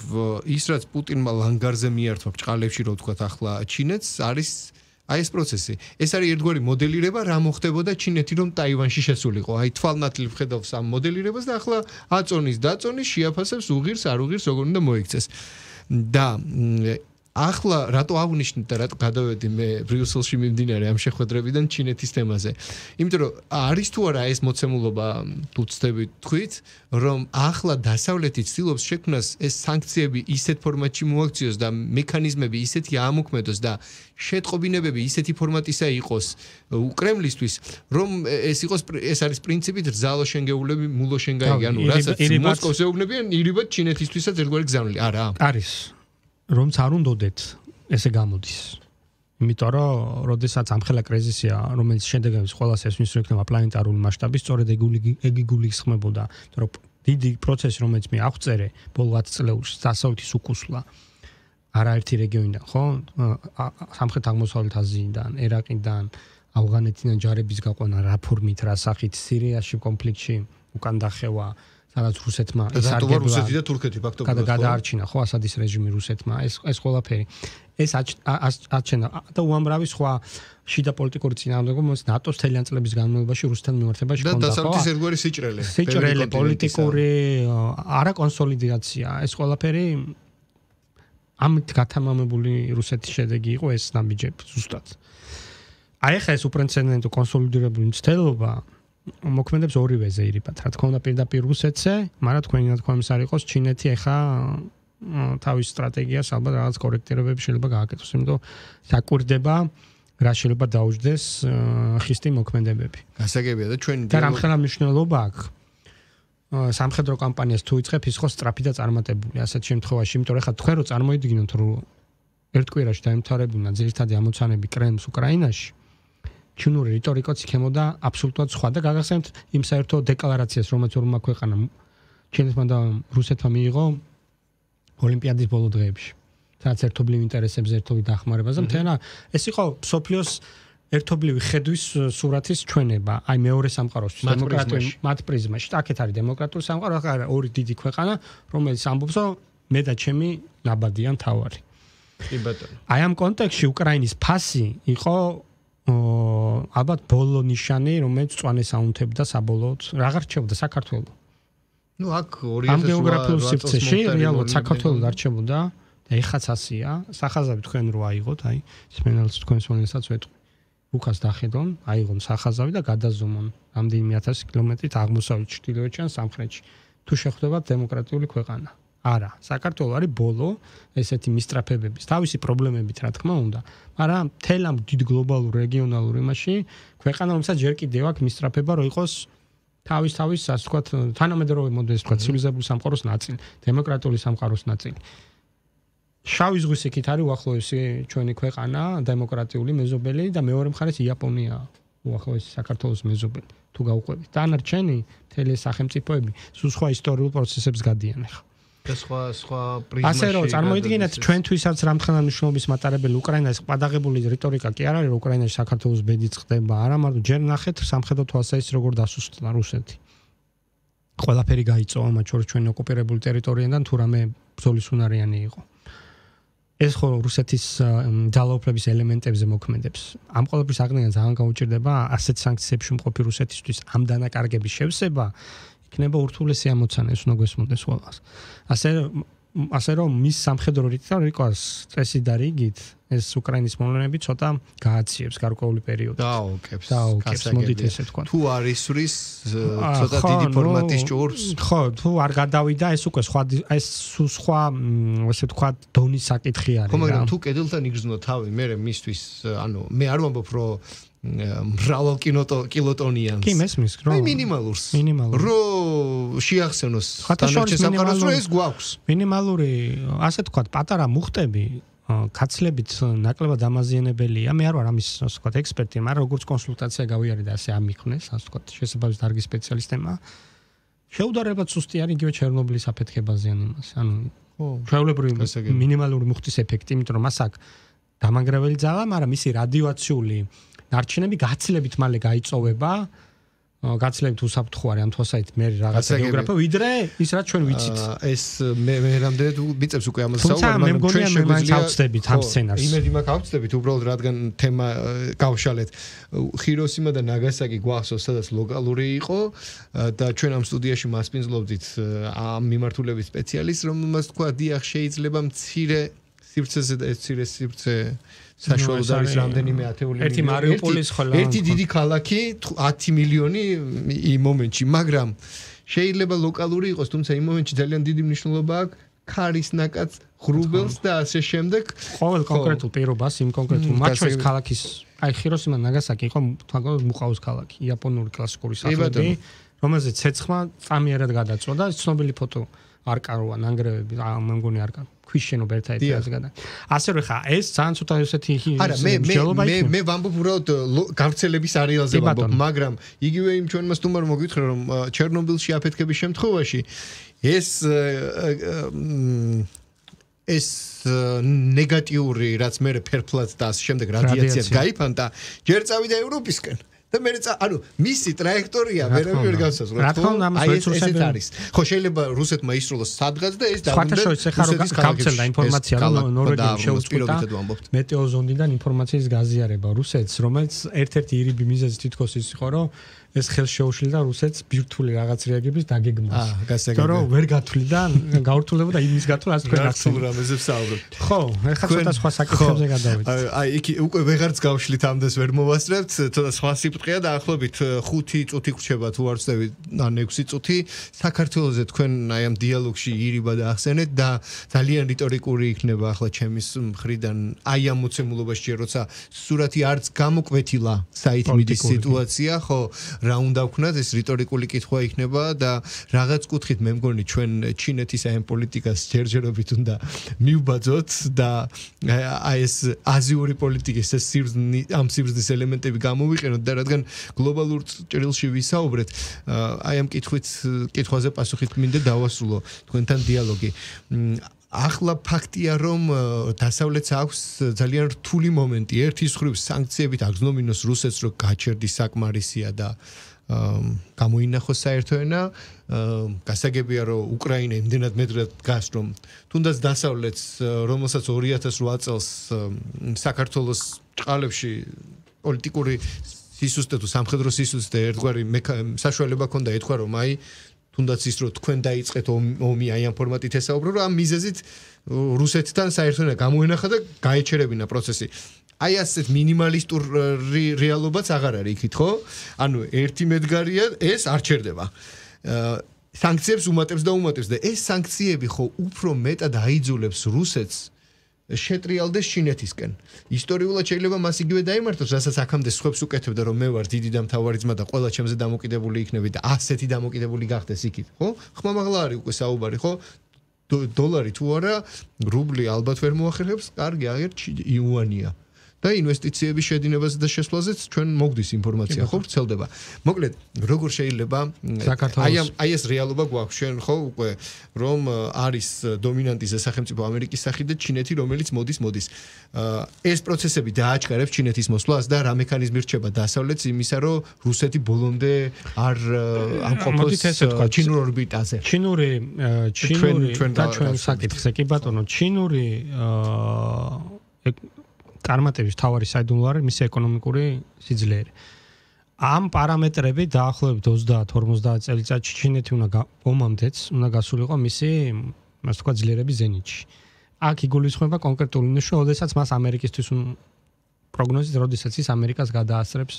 ის რაც პუტინმა ლანგარზე მიართვა ბჭყალებში რო ვთქვათ ახლა ჩინეთს არის აი ეს პროცესი. ეს არის ერთგვარი მოდელირება რა მოხდებოდა ჩინეთი რომ ტაივანში შესულიყო. აი თვალნათლივ ხედავს ამ მოდელირებას და ახლა აწონის დაწონის შეაფასებს უღირს არ უღირს როგორ უნდა მოიქცეს. და ახლა რატო აღნიშნეთ და რატო გადავედი მე ბრიუსელში მიმდინარე ამ შეხვედრებიდან ჩინეთის თემაზე. იმიტომ რომ არის თუ არა ეს მოცემულობა თუ ცდებით თქვით, რომ ახლა დასავლეთი ცდილობს შექმნას ეს სანქციები ისეთ ფორმატში მოაქციოს და მექანიზმები ისეთი ამოქმედოს და შეტყობინებები ისეთი ფორმატისა იყოს უკრემლისთვის, რომ ეს იყოს ეს არის პრინციპით რძალო შენგეულები მულო შენგაი, ანუ რასაც მოსკოვს ეუბნებიან, ირიბად ჩინეთისთვისაც ერთგვარი გზავნილი. არა. არის. რომც არ უნდოდეთ ესე გამოდის. იმიტომ რომ როდესაც ამხელა კრიზისია, რომელიც შედეგებს ყველას ესმის რომ იქნება პლანეტარული მასშტაბის, სწორედ ეგი გულისხმებოდა, რომ დიდი პროცესი რომელიც მე აღწერე ბოლო ათი წლებში დასავლეთის უკუსვლა არაერთი რეგიონიდან, ხო? სამხრეთ აღმოსავლეთ აზიიდან, ერაყიდან, ავღანეთიდან ჯარების გაყვანა რა ფორმით, რა სახით, სირიაში კონფლიქტში უკან დახევა სადაც რუსეთმა ისარგებლა რუსეთი და თურქეთი ფაქტობრივად გადაარჩინა ხო ასადის რეჟიმი რუსეთმა ეს ეს ყველაფერი ეს აჩენა და უამრავი სხვა შიდა პოლიტიკური წინააღმდეგობა მომს ნატოს თელიან წლების განმავლობაში რუსეთთან მიმართებაში ჰქონდა ხო და დასავლეთის ერთგვარი სიჭრელე სიჭრელე პოლიტიკური არა კონსოლიდაცია ეს ყველაფერი ამით გათამამებული რუსეთის შედეგი იყო ეს ნაბიჯები ზუსტად აი ხა ეს უპრეცედენტო კონსოლიდირებული მცდელობა მოქმედებს ორივეზე ირიბად. რა თქმა უნდა პირდაპირ რუსეთზე, მაგრამ თქვენი ნათქვამის არ იყოს ჩინეთი ახლა თავის სტრატეგიას ალბათ რაღაც კორექტირებები შეიძლება გააკეთოს, იმიტომ საკვირდება რა შეიძლება დაუჯდეს ხისტი მოქმედებები. გასაგებია და ჩვენი და რამხელა მნიშვნელობა აქვს სამხედრო კამპანიას თუ იწყებ ის ხო სწრაფი და წარმატებული ასეთ შემთხვევაში, იმიტომ რომ ახლა თქვენ რო წარმოიდგინოთ რომ ერთ კვირაში დაემთავრებინა ძირითადი ამოცანები კრემლს უკრაინაში ჩინური რიტორიკაც იქნებოდა აბსოლუტურად სხვა და გაგახსენებთ იმ საერთო დეკლარაციას, რომელიც ორმა ქვეყანამ ჩინეთმა და რუსეთმა მიიღო ოლიმპიადის ბოლო დღეებში. სადაც ერთობლივ ინტერესებზე ერთობლივ დახმარებაზე მთენა ეს იყო სოფლიოს ერთობლივი ხედვის სურათის ჩვენება, აი მეორე სამყაროსთვის დემოკრატიული მათ პრიზმაში. აქეთ არის დემოკრატიული სამყარო, აქ არის ორი დიდი ქვეყანა, რომელიც ამბობს, რომ მე და ჩემი ნაბადიან თავარი. კი ბატონო. აი ამ კონტექსტში უკრაინის ფასი იყო ალბათ ბოლო ნიშანი, რომელიც წვანეს აუნთებდა საბოლოოდ, აღარ რჩებოდა საქართველოს. ნუ აქ ორი ათას ამ გეოგრაფიულ სივრცეში რეალურად საქართველოს არ რჩებოდა და ეხაც ასია, სახაზავი თქვენ რო აიღოთ, აი, სმენელს თქვენს მონესაც ვეთქვი. უკას დახედონ, აიღონ სახაზავი და გადაზომონ რამდენიმე ათასი კილომეტრით აღმოსავლეთ ჩრდილოეთში ან სამხრეთში. თუ შეხვდებათ დემოკრატიული ქვეყანა. არა, საქართველოს არის ბოლო ესეთი მისტრაფებების, თავისი პრობლემებით, რა თქმა უნდა, მაგრამ თელ ამ დიდ გლობალურ რეგიონალურ იმაში ქვეყანა რომელსაც ჯერ კიდევ აქვს მისტრაფება, რომ იყოს თავის თავის, ასე ვთქვათ, თანამედროვე მოდელის, ვთქვათ, ცივილიზებული სამყაროს ნაწილი, დემოკრატიული სამყაროს ნაწილი. შავი ზღვის იქით არის უახლოესი ჩვენი ქვეყანა, დემოკრატიული მეზობელი და მეორე მხარეს იაპონია უახლოესი საქართველოს მეზობელი. თუ გავუყვებით, დანარჩენი მთელი სახელმწიფოები სულ სხვა ისტორიულ პროცესებს გადიან ახლა. და სხვა სხვა პრიზმაში. ასე რომ წარმოიდგინეთ ჩვენთვისაც რამთქანა მნიშვნელობის მატარებელი უკრაინას პადაღებული რიტორიკა კი არ არის, რომ უკრაინაში საქართველოს ბედი წყდება, არა, მაგრამ ჯერ ნახეთ სამხედრო თვალსაჩინო როგორ დასუსტდა რუსეთი. ყველაფერი გაიწოვა მათ შორის ჩვენი ოკუპირებული ტერიტორიიდან თუ რამე ბრძოლის უნარიანი იყო. ეს ხო რუსეთის ძალაუფლების ელემენტებზე მოქმედებს. ამ ყველაფრის აღდგენა ძალიან გაუჭირდება ასეთ სანქციებში მყოფი რუსეთისთვის ამ დანაკარგების შევსება იქნება ურთულესი ამოცანა, ეს უნდა გვესმოდეს ყველას. ასე ასე რომ მის სამხედრო რიტორიკას წესი და რიგით ეს უკრაინის მოვლენები ცოტა გააციებს გარკვეული პერიოდი. დააოქებს. დააოქებს, მოდით ესე თქვა. თუ არ ისვრის ცოტა დიდი ფორმატის ჭურს. ხო, თუ არ გადავიდა, ეს უკვე სხვა ეს სხვა ასე თქვა დონის საკითხი არის. ხო, მაგრამ თუ კედელთან იგრძნო თავი, მე მისთვის, ანუ მე არ ვამბობ, რომ მრავალ კილოტონიანს. კი, მესმის, რომ აი მინიმალურს. მინიმალური. რომ შეახსენოს დანარჩენ სამყაროს, რომ ეს გვაქვს. მინიმალური, ასე თქვა, პატარა მუხტები კაცლებით ნაკლებად ამაზიანებელია. მე არ ვარ ამის, ასე ვთქვათ, ექსპერტი, მაგრამ როგორც კონსულტაცია გავიარე და ასე ამიქნეს, ასე ვთქვათ, შესაბამის დარგის სპეციალისტებმა. შეუდარებად სუსტი არის იგივე ჩერნობილის აფეთქებაზე ან იმას. ანუ ხო, ჩვეულებრივი მინიმალური მუხტის ეფექტი, იმიტომ რომ მას აქვს დამანგრეველი ძალა, მაგრამ მისი რადიოაციული ნარჩენები გაცილებით მალე გაიწოვება. გაცილებით უსაფრთხო არის ამ თვალსაჩინო მე რაღაცა გეოგრაფია ვიდრე ის რაც ჩვენ ვიცით. ეს მე მე რამდენად მიწევს უკვე ამას საუბარი, მაგრამ ჩვენ შეგვიძლია ავწდებით ამ სცენარს. იმედი მაქვს ავწდებით უბრალოდ რადგან თემა გავშალეთ. ხიროსიმა და ნაგასაკი გვახსოვს, სადაც ლოკალური იყო და ჩვენ ამ სტუდიაში მასპინძლობდით ამ მიმართულების სპეციალისტს, რომელმაც თქვა, დიახ, შეიძლება მცირე სივრცეზე და ეს მცირე სივრცე საშუალოდ არის რამდენიმე ათეული ერთი მარიუპოლის ხოლმე ერთი დიდი ქალაქი ათი მილიონი იმ მომენტში, მაგრამ შეიძლება ლოკალური იყოს, თუმცა იმ მომენტში ძალიან დიდი მნიშვნელობა აქვს ქარის ნაკაც ღრუბელს და ასე შემდეგ. ყოველ კონკრეტულ პირობას იმ კონკრეტულ მათ შორის ქალაქის აი ხიროსიმა ნაგასაკი იყო თვალყოლოდ მუყაოს ქალაქი, იაპონური კლასიკური სახლები, რომელზეც ცეცხლმა წამიერად გადაწვა და ცნობილი ფოტო არ კაროა ნანგრევები, მე მგონი არ კაროა. ქვიშენობა ერთ-ერთად გადა. ასე რომ ხა ეს ძალიან ცოტა ესეთი არა მე მე მე ვამბობ უბრალოდ გავრცელების არეალზე ვამბობ, მაგრამ იგივე იმ ჩვენმა სტუმარმა მოგვითხრა რომ ჩერნობილში აფეთქების შემთხვევაში ეს ეს ნეგატიური რაც მე ფერფლად და ამ შემდეგ რადიაციას გაიფანტა, ჯერ წავიდა ევროპისკენ. და მე ცა ანუ მისი ტრაექტორია ვერავინ ვერ განსაზღვრა. რა თქმა უნდა, ამას ესეც არის. ხო, შეიძლება რუსეთმა ისრულოს სადღაც და ეს დაგვიდა. რუსეთის გავცელდა ინფორმაცია, რომ ნორვეგიამ შეუწყვეტა მეტეოზონდიდან ინფორმაციის გაზიარება რუსეთს, რომელიც ერთ-ერთი ირიბი მიზეზი თითქოს ის იყო, რომ ეს ხელს შეუშლიდა რუსეთს ბირთვული რაღაც რეაგების დაგეგმას. აა, გასაგებია. იმიტომ რომ ვერ გათვლიდა, გაურთულებოდა იმის გათვლა, რაც თქვენ ახსენეთ. რამეზე ვსაუბრობთ. ხო, ეხლა ცოტა სხვა საკითხებზე გადავიდეთ. აი, იქ უკვე ვეღარც გავშლით ამდენს ვერ მოვასწრებთ, ცოტა სხვა სიფრთხეა და ახლობით ხუთი წუთი ხრჩება თუ არ ვწდები, ან ექვსი წუთი. საქართველოზე თქვენ აი ამ დიალოგში ირიბა და ახსენეთ და ძალიან რიტორიკული იქნება ახლა ჩემის მხრიდან აი ამ მოცემულობაში ჯერ როცა სურათი არც გამოკვეთილა საით მიდის სიტუაცია, ხო რა უნდა ვქნათ, ეს რიტორიკული კითხვა იქნება და რაღაც კუთხით მე მგონი ჩვენ ჩინეთის აი ამ პოლიტიკას ჯერჯერობით უნდა მივბაძოთ და აი ეს აზიური პოლიტიკის ეს სიბრძნე ამ სიბრძნის ელემენტები გამოვიყენოთ და რადგან გლობალურ ჭრილში ვისაუბრეთ, აი ამ კითხვით კითხვაზე პასუხით მინდა დავასრულო თქვენთან დიალოგი. ახლა ფაქტია რომ დასავლეთს აქვს ძალიან რთული მომენტი. ერთის მხრივ სანქციებით აგზნობინოს რუსეთს რომ გაჩერდის საკმარისია და გამოინახოს საერთო ენა, გასაგებია რომ უკრაინა იმდენად მეძღრად დგას რომ თუნდაც დასავლეთს რომელსაც ორი ათას რვა წელს საქართველოს ჭყალებში პოლიტიკური სისუსტე თუ სამხედრო სისუსტე ერთგვარი საშუალება ჰქონდა ეთქვა რომ აი თუნდაც ის რომ თქვენ დაიწყეთ ომი აი ამ ფორმატით ესაუბრო რომ ამ მიზეზით რუსეთთან საერთო ენა გამოენახა და გაეჩერებინა პროცესი. აი ასეთ მინიმალისტურ რეალობაც აღარ არის იქით, ხო? ანუ ერთი მედგარია, ეს არ ჩერდება. სანქციებს უმატებს და უმატებს და ეს სანქციები ხო უფრო მეტად აიძულებს რუსეთს შეტრიალდეს ჩინეთისკენ. ისტორიულად შეიძლება მას იგივე დაიმართოს, რასაც აქამდე სხვებს უკეთებდა, რომ მე ვარ დიდი და მთავარი ძმა და ყველა ჩემზე დამოკიდებული იქნები და ასეთი დამოკიდებული გახდეს იქით, ხო? ხმამაღლა არის უკვე საუბარი, ხო? დოლარი თუ არა, რუბლი ალბათ ვერ მოახერხებს, კარგი, აღერ იუანია. და ინვესტიციების შედინებაზე და შესვლაზეც ჩვენ მოგდის ინფორმაცია ხო ვრცელდება. მოკლედ, როგორ შეიძლება აი ამ აი ეს რეალობა გვაქვს ჩვენ ხო უკვე რომ არის დომინანტი სახელმწიფო ამერიკის სახით და ჩინეთი რომელიც მოდის მოდის. ეს პროცესები დააჩქარებს ჩინეთის მოსვლას და რა მექანიზმი რჩება დასავლეთს იმისა რომ რუსეთი ბოლომდე არ ამყოფოს ჩინურ ორბიტაზე. ჩინური ჩინური და ჩვენ საკითხზე კი ბატონო ჩინური წარმატების თავარი საიდუმლო არის მისი ეკონომიკური სიძლიერე. ამ პარამეტრები დაახლოებით ოცდაათ ორმოცდაათ წელიწადში ჩინეთი უნდა ომამდეც უნდა გასულიყო მისი ასე ვთქვათ ძლიერების ზენიტში. აქ იგულისხმება კონკრეტული ნიშნა, როდესაც მას ამერიკისთვის პროგნოზით, როდესაც ის ამერიკას გადაასწრებს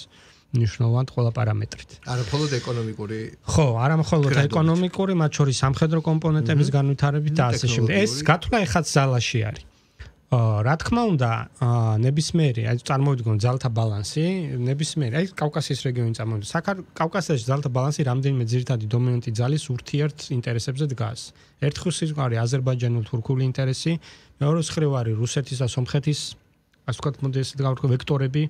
მნიშვნელოვან ყველა პარამეტრით. არა მხოლოდ ეკონომიკური. ხო, არა მხოლოდ ეკონომიკური, მათ შორის სამხედრო კომპონენტების განვითარებით და ასე შემდეგ. ეს გათვლა ეხაც ზალაში არის. რა თქმა უნდა, ნებისმიერი, აი წარმოვიდგინოთ ძალთა ბალანსი, ნებისმიერი, აი კავკასიის რეგიონი წარმოვიდგინოთ. კავკასიაში ძალთა ბალანსი რამდენიმე ძირითადი დომინანტი ძალის ურთიერთ ინტერესებზე დგას. ერთხელ ის არის აზერბაიჯანულ-თურქული ინტერესი, მეორე მხრივ არის რუსეთის და სომხეთის, ასე ვთქვათ, მოდესით გავთქვი ვექტორები.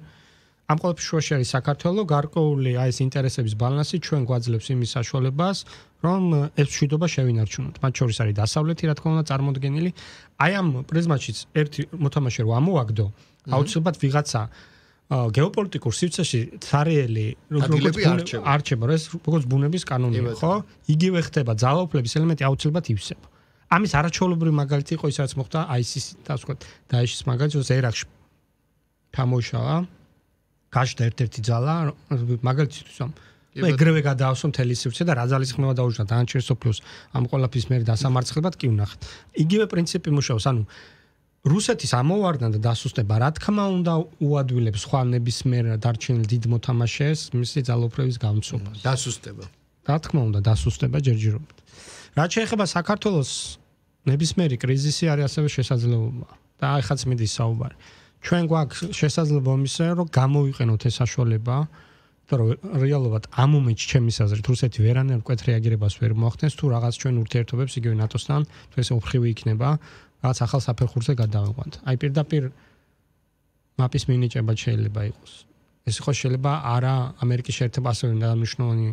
ამ ყველაფრის შუაში არის საქართველო, გარკვეული აი ეს ინტერესების ბალანსი ჩვენ გვაძლევს იმის საშუალებას, რომ ეს მშვიდობა შევინარჩუნოთ. მათ შორის არის დასავლეთი, რა თქმა უნდა, წარმოდგენილი. აი ამ პრიზმაშიც ერთი მოთამაშე რო ამოვაგდო, აუცილებლად ვიღაცა გეოპოლიტიკურ სივრცეში цаრიელი როგორც არჩება, ეს როგორც ბუნების კანონია, ხო? იგივე ხდება ძალაუფლების ელემენტი აუცილებლად ივსება. ამის არაჩვეულებრივი მაგალითი იყო ის რაც მოხდა აისის და ასე ვთქვათ, დაეშის მაგალითი, რომ ერაყში თამოშალა გაჩნდა ერთ-ერთი ძალა, მაგალითისთვის ამ ეგრევე გადაავსო მთელი სივრცე და რა ძალის ხმევა დაუშვნა დანარჩენ სოფლიოს ამ ყველაფრის მერე დასამარცხებლად კი ვნახეთ. იგივე პრინციპი მუშაობს, ანუ რუსეთის ამოვარდნა და დასუსტება რა თქმა უნდა უადვილებს სხვა ნებისმიერ დარჩენილ დიდ მოთამაშეს მისი ძალაუფლების გამცობას. დასუსტება. რა თქმა უნდა დასუსტება ჯერჯერობით. რაც შეეხება საქართველოს ნებისმიერი კრიზისი არის ასევე შესაძლებლობა და ახაც მიდის საუბარი. ჩვენ გვაქვს შესაძლებლობა იმისა, რომ გამოვიყენოთ ეს საშუალება და რომ რეალურად ამ მომენტში ჩემის აზრით რუსეთი ვერანაირ მკვეთ რეაგირებას ვერ მოახდენს თუ რაღაც ჩვენ ურთიერთობებს იგივე ნატოსთან თუ ესე უფხრივი იქნება რაღაც ახალ საფეხურზე გადავიყვანთ. აი პირდაპირ მაპის მინიჭება შეიძლება იყოს. ეს ხო შეიძლება არა ამერიკის შეერთებული ასევე მნიშვნელოვანი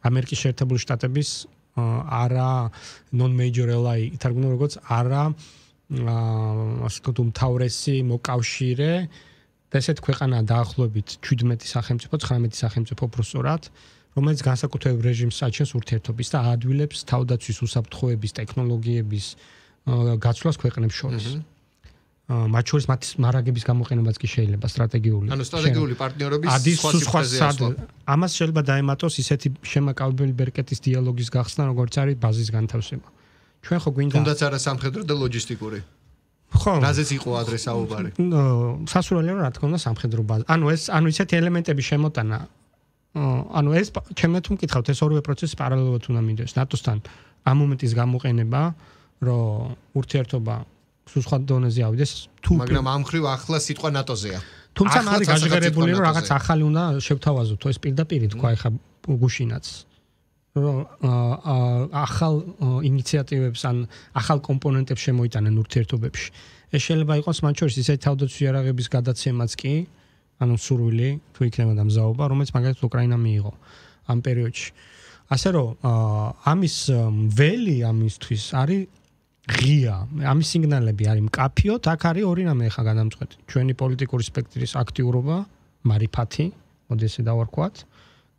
ამერიკის შეერთებული შტატების არა non-major ally ითარგმნა როგორც არა ასე თუ მთავრესი მოკავშირე და ესეთ ქვეყანა დაახლოებით ჩვიდმეტი სახელმწიფო, ცხრამეტი სახელმწიფო პროსორად, რომელიც განსაკუთრებულ რეჟიმს აჩენს ურთიერთობის და აადვილებს თავდაცვის უსაფრთხოების ტექნოლოგიების გაცვლას ქვეყნებს შორის. მათ შორის მათ მარაგების გამოყენებაც კი შეიძლება სტრატეგიული. ანუ სტრატეგიული პარტნიორობის სხვა სიტყვაზე. ამას შეიძლება დაემატოს ისეთი შემაკავებელი ბერკეტის დიალოგის გახსნა, როგორც არის ბაზის განთავსება. ჩვენ ხო გვინდა თუნდაც არა სამხედრო და ლოჯისტიკური. ხო. რაზეც იყო ადრე საუბარი. სასურველია რა თქმა უნდა სამხედრო ბაზა. ანუ ეს ანუ ისეთი ელემენტების შემოტანა ანუ ეს ჩემი თუ მკითხავთ ეს ორივე პროცესი პარალელურად უნდა მინდოს. ნატოსთან ამ მომენტის გამოყენება, რომ ურთიერთობა სხვა დონეზე ავიდეს თუ მაგრამ ამ ხრივ ახლა სიტყვა ნატოზეა. თუმცა არის გაჟღერებული რომ რაღაც ახალი უნდა შევთავაზოთ, ეს პირდაპირ თქვა ეხა გუშინაც. რომ ახალ ინიციატივებს ან ახალ კომპონენტებს შემოიტანენ ურთიერთობებში. ეს შეიძლება იყოს მათ შორის ისეთი თავდაცვის იარაღების გადაცემაც კი, ანუ სურვილი თუ იქნება და მზაობა, რომელიც მაგალითად უკრაინამ მიიღო ამ პერიოდში. ასე რომ ამის ველი ამისთვის არის ღია. ამის სიგნალები არის მკაფიოდ, აქ არის ორი რამე ხა გადამწყვეტი. ჩვენი პოლიტიკური სპექტრის აქტიურობა, მარიფათი, მოდი ესე დავარქვათ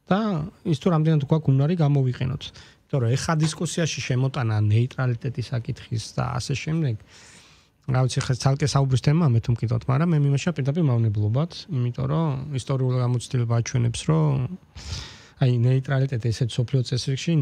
და ის თუ რამდენად გვაქვს უნარი გამოვიყენოთ. იმიტომ რომ ეხა დისკუსიაში შემოტანა ნეიტრალიტეტის საკითხის და ასე შემდეგ. რა ვიცი, ხა ცალკე საუბრის თემაა მე თუ მკითხოთ, მაგრამ მე მიმაშა პირდაპირ მავნებლობად, იმიტომ რომ ისტორიული გამოცდილება აჩვენებს, რომ აი ნეიტრალიტეტი ესეთ სოფლიო წესრიგში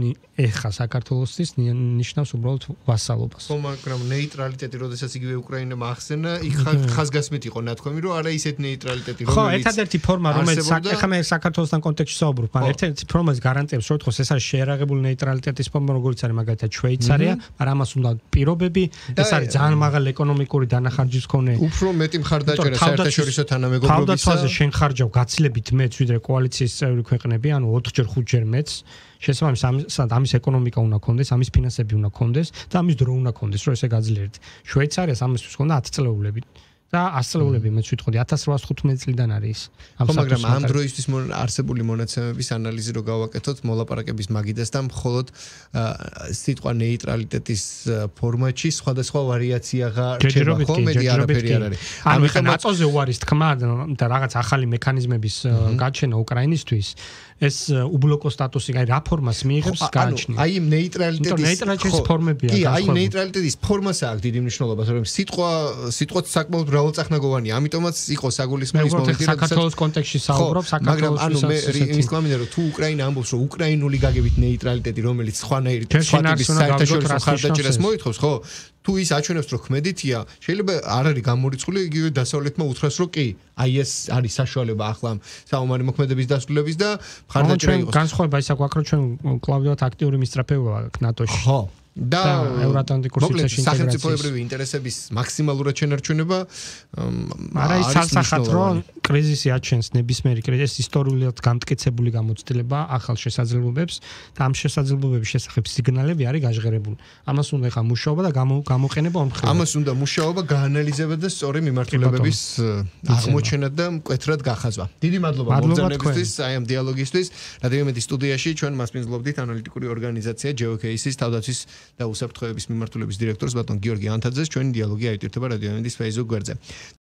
ეხა საქართველოსთვის ნიშნავს უბრალოდ ვასალობას. ხო, მაგრამ ნეიტრალიტეტი, როდესაც იგივე უკრაინამ ახსენა, იქ ხაზგასმით იყო ნათქვამი, რომ არა ისეთ ნეიტრალიტეტი, რომელიც ხო, ერთადერთი ფორმა, რომელიც ეხა მე საქართველოსთან კონტექსტში საუბრობ, მაგრამ ერთადერთი ფორმას გარანტიებს, რომ თქოს ეს არის შეერაღებული ნეიტრალიტეტის ფორმა, როგორც არის მაგალითად შვეიცარია, მაგრამ ამას უნდა პირობები, ეს არის ძალიან მაღალი ეკონომიკური დანახარჯის მქონე. უფრო მეტი მხარდაჭერა საერთაშორისო თანამეგობრობისა. თავდაცვაზე შენ ხარჯავ გაცილებით მეც, ვიდრე კოალიციის წევრი ქვეყნები, ანუ ოთხჯერ ხუთჯერ მეც შესაბამისად ამის ეკონომიკა უნდა კონდეს, ამის ფინანსები უნდა კონდეს და ამის დრო უნდა კონდეს, რომ ესე გაძლიერდეთ. შვეიცარიას ამისთვის ჰქონდა ათი წლეულები და ათი წლეულები მეც ვიტყოდი ათას რვაას თხუთმეტი წლიდან არის ის. ხო, მაგრამ ამ დროისთვის არსებული მონაცემების ანალიზი რო გავაკეთოთ მოლაპარაკების მაგიდას და მხოლოდ სიტყვა ნეიტრალიტეტის ფორმატში სხვადასხვა ვარიაციაა რჩება, ხო, მედი არაფერი არ არის. ანუ ხა ნატოზე უარის თქმა და რაღაც ახალი მექანიზმების გაჩენა უკრაინისთვის ეს უბლოკო სტატუსი, აი რა ფორმას მიიღებს გააჩნია. აი ნეიტრალიტეტის ნეიტრალიტეტის ფორმებია. კი, აი ნეიტრალიტეტის ფორმასა აქვს დიდი მნიშვნელობა, რომ სიტყვა სიტყვაც საკმაოდ მრავალწახნაგოვანია, ამიტომაც იყო საგულისხმელის მომენტი, როდესაც საქართველოს კონტექსტში საუბრობ, საქართველოს ანუ მე იმის კამინა რომ თუ უკრაინა ამბობს, რომ უკრაინული გაგებით ნეიტრალიტეტი, რომელიც სხვანაირი სხვა ტიპის საერთაშორისო მხარდაჭერას მოითხოვს, ხო? თუ ის აჩვენებს, რომ ქმედითია, შეიძლება არ არის გამორიცხული იგივე დასავლეთმა უთხრას, რომ კი, აი ეს არის საშუალება ახლა საომარი მოქმედების დასრულების და მხარდაჭერა იყოს. განსხვავება ის აქვს, რომ ჩვენ კლავდივად აქტიური მისწრაფეობა აქვს ნატოში. ხო. და ევროატლანტიკურ სივრცეში ინტეგრაციის სახელმწიფოებრივი ინტერესების მაქსიმალურად შენარჩუნება არა ის სამსახატრო კრიზისი აჩენს ნებისმიერი კრიზისი ისტორიულად გამტკიცებული გამოცდილება ახალ შესაძლებლობებს და ამ შესაძლებლობების შესახებ სიგნალები არის გაჟღერებული. ამას უნდა ხა მუშაობა და გამოყენება ორმხრივად. ამას უნდა მუშაობა, გაანალიზება და სწორი მიმართულებების აღმოჩენა და მკვეთრად გახაზვა. დიდი მადლობა მომზადებისთვის, აი ამ დიალოგისთვის. რადიო მედის სტუდიაში ჩვენ მასპინძლობდით ანალიტიკური ორგანიზაცია ჯეოკეისის თავდაცვის და უსაფრთხოების მიმართულების დირექტორს ბატონ გიორგი ანთაძეს. ჩვენი დიალოგი აიტირთება რადიო მედის Facebook გვერდზე.